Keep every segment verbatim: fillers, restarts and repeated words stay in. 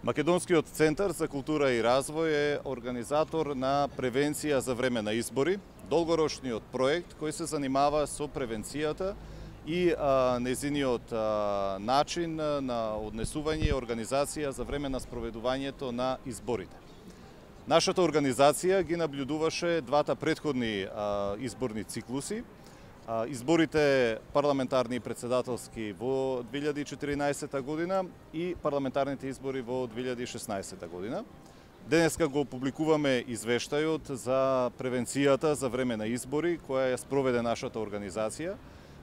Македонскиот центар за култура и развој е организатор на превенција за време на избори, долгорочниот проект кој се занимава со превенцијата и а, незиниот а, начин на однесување и организација за време на спроведувањето на изборите. Нашата организација ги наблюдуваше двата претходни а, изборни циклуси, а, изборите парламентарни и председателски во две илјади и четиринаесета година и парламентарните избори во две илјади и шеснаесета година. Денеска го публикуваме извештајот за превенцијата за време на избори која ја спроведе нашата организација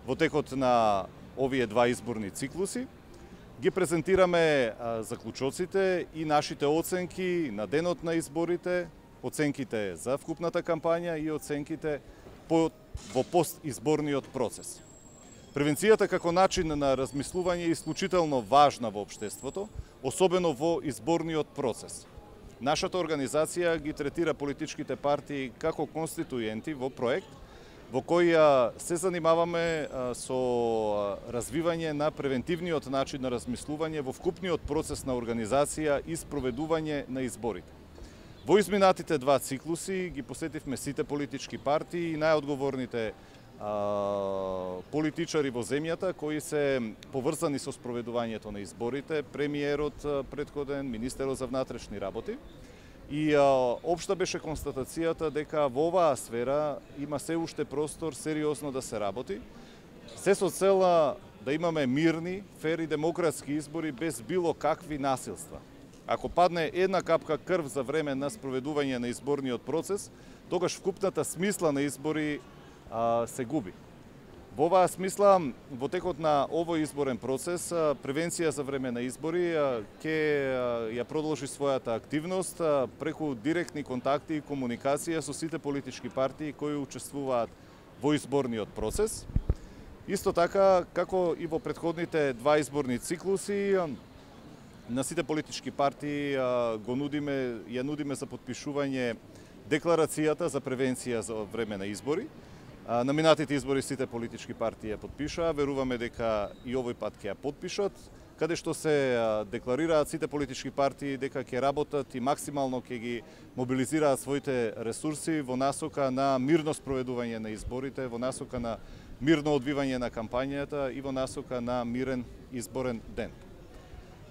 во текот на овие два изборни циклуси. Ги презентираме а, заклучоците и нашите оценки на денот на изборите, оценките за вкупната кампања и оценките по, во постизборниот процес. Превенцијата како начин на размислување е исклучително важна во општеството, особено во изборниот процес. Нашата организација ги третира политичките партии како конституенти во проект во кој се занимаваме со развивање на превентивниот начин на размислување во вкупниот процес на организација и спроведување на изборите. Во изминатите два циклуси ги посетивме сите политички партии и најодговорните политичари во земјата кои се поврзани со спроведувањето на изборите, премиерот претходен, министерот за внатрешни работи. И а, општа беше констатацијата дека во оваа сфера има се уште простор сериозно да се работи, се со цела да имаме мирни, фер и демократски избори без било какви насилства. Ако падне една капка крв за време на спроведување на изборниот процес, тогаш вкупната смисла на избори а, се губи. Во оваа смисла, во текот на овој изборен процес, превенција за време на избори ќе ја продолжи својата активност преку директни контакти и комуникација со сите политички партии кои учествуваат во изборниот процес. Исто така, како и во претходните два изборни циклуси, на сите политички партии го нудиме, ја нудиме за подпишување декларацијата за превенција за време на избори. На минатите избори сите политички партии ја подпишаа, веруваме дека и овој пат ќе ја подпишат, каде што се декларираат сите политички партии дека ќе работат и максимално ќе ги мобилизираат своите ресурси во насока на мирно спроведување на изборите, во насока на мирно одвивање на кампањата и во насока на мирен изборен ден.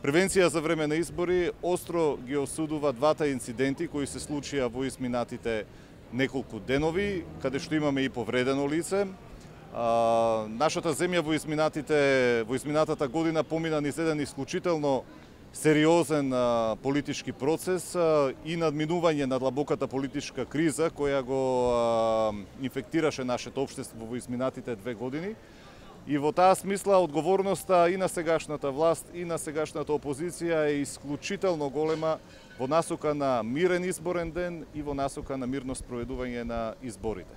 Превенција за време на избори остро ги осудува двата инциденти кои се случија во изминатите неколку денови, каде што имаме и повредено лице. А, нашата земја во изминатите во изминатата година помина низ еден исклучително сериозен а, политички процес а, и надминување на длабоката политичка криза која го а, инфектираше нашето општество во изминатите две години. И во таа смисла одговорноста и на сегашната власт и на сегашната опозиција е исклучително голема во насока на мирен изборен ден и во насока на мирно спроведување на изборите.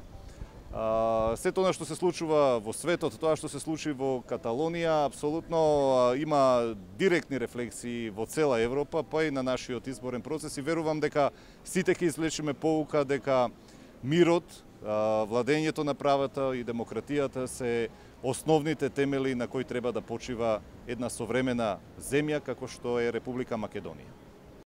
А, сето она што се случува во светот, тоа што се случи во Каталонија, апсолутно има директни рефлексии во цела Европа, па и на нашиот изборен процес и верувам дека сите ќе извлечеме поука дека мирот, владењето на правата и демократијата се основните темели на кои треба да почива една современа земја како што е Република Македонија.